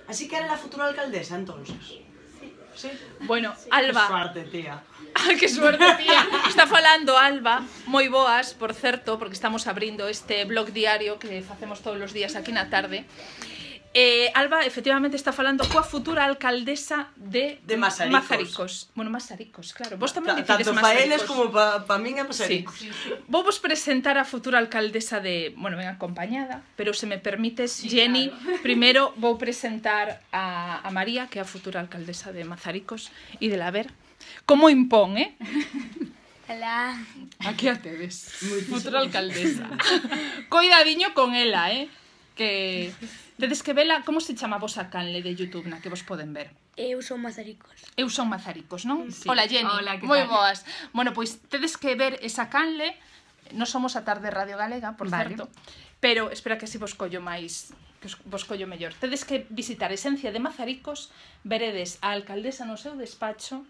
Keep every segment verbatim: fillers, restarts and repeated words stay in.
Así que era la futura alcaldesa, entonces. Sí. Bueno, Alba... Que suerte, tía. Ah, que suerte, tía. Está falando Alba, moi boas, por certo, porque estamos abrindo este blog diario que facemos todos os días aquí na tarde. Eh, Alba, efectivamente, está falando coa futura alcaldesa de, de Mazaricos. Mazaricos. Bueno, Mazaricos, claro. Vos tamén dicides Mazaricos. Tanto para eles como para pa min é Mazaricos. Sí. Vou vos presentar a futura alcaldesa de... Bueno, ben acompañada, pero se me permites, sí, Jenny, claro. Primeiro vou presentar a, a María, que é a futura alcaldesa de Mazaricos, e de la ver como impón, eh? Hola. Aquí a tedes, futura alcaldesa. Coidadiño con ela, eh? Que... Tedes que vela, como se chama vos a canle de YouTube na que vos poden ver? Eu son Mazaricos. Eu son Mazaricos, non? Sí. Hola, Jenny. Hola, que moi tal? boas. Bueno, pois tedes que ver esa canle. Non somos a Tarde Radio Galega, por vale. certo, pero espera que así vos collo máis, que vos collo mellor. Tedes que visitar Esencia de Mazaricos, veredes a alcaldesa no seu despacho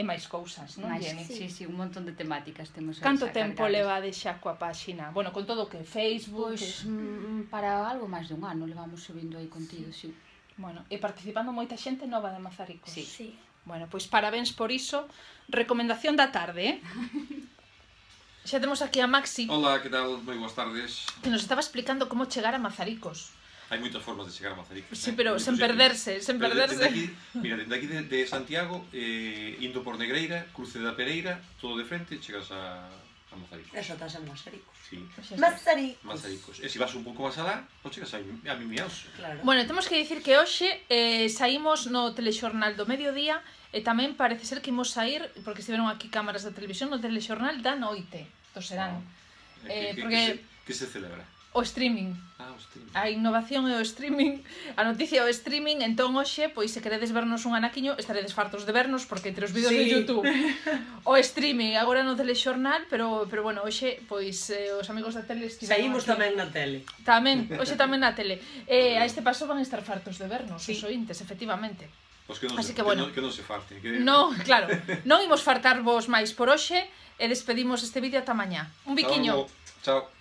e máis cousas, non, Jenny? Sí, sí, un montón de temáticas temos. Canto tempo leva de xa coa páxina? Bueno, con todo o que Facebook... Pois, mm, para algo máis de un ano levamos subindo aí contido, sí. Bueno, e participando moita xente nova de Mazaricos. Sí. Sí. Bueno, pois parabéns por iso. Recomendación da tarde, eh? Xa temos aquí a Maxi. Hola, que tal? Moi boas tardes. Que nos estaba explicando como chegar a Mazaricos. Hai moitas formas de chegar a Mazaricos. Sí, eh? pero sen perderse, sen perderse. Aquí, mira, dende aquí de, de Santiago, eh, indo por Negreira, cruce da Pereira, todo de frente, chegas a, a Mazaricos. Eso estás en Mazaricos. Sí. Mazaricos. Mazaricos. E se vas un pouco máis alá, pois chegas a, a Mimiaos. Claro. Bueno, temos que dicir que hoxe eh, saímos no telexornal do mediodía e tamén parece ser que imos sair, porque estiveron aquí cámaras da televisión, no telexornal da noite, do serán. Oh. Eh, que, porque... que, se, que se celebra? O streaming. Ah, o streaming. A innovación e o streaming, a noticia e o streaming, entón hoxe, pois se queredes vernos un anaquiño, estaredes fartos de vernos, porque entre os vídeos sí. de YouTube, o streaming, agora no telexornal, pero, pero bueno, hoxe, pois, eh, os amigos da tele estiveron saímos aquí. Tamén na tele. Tamén, hoxe tamén na tele. Eh, a este paso van a estar fartos de vernos, sí. Os ointes, efectivamente. Pois que non Así se, que, bueno, que non, que non se farten. Que... No, claro, non imos fartarvos máis por hoxe e despedimos este vídeo ata mañá. Un biquiño. Chao. Chao.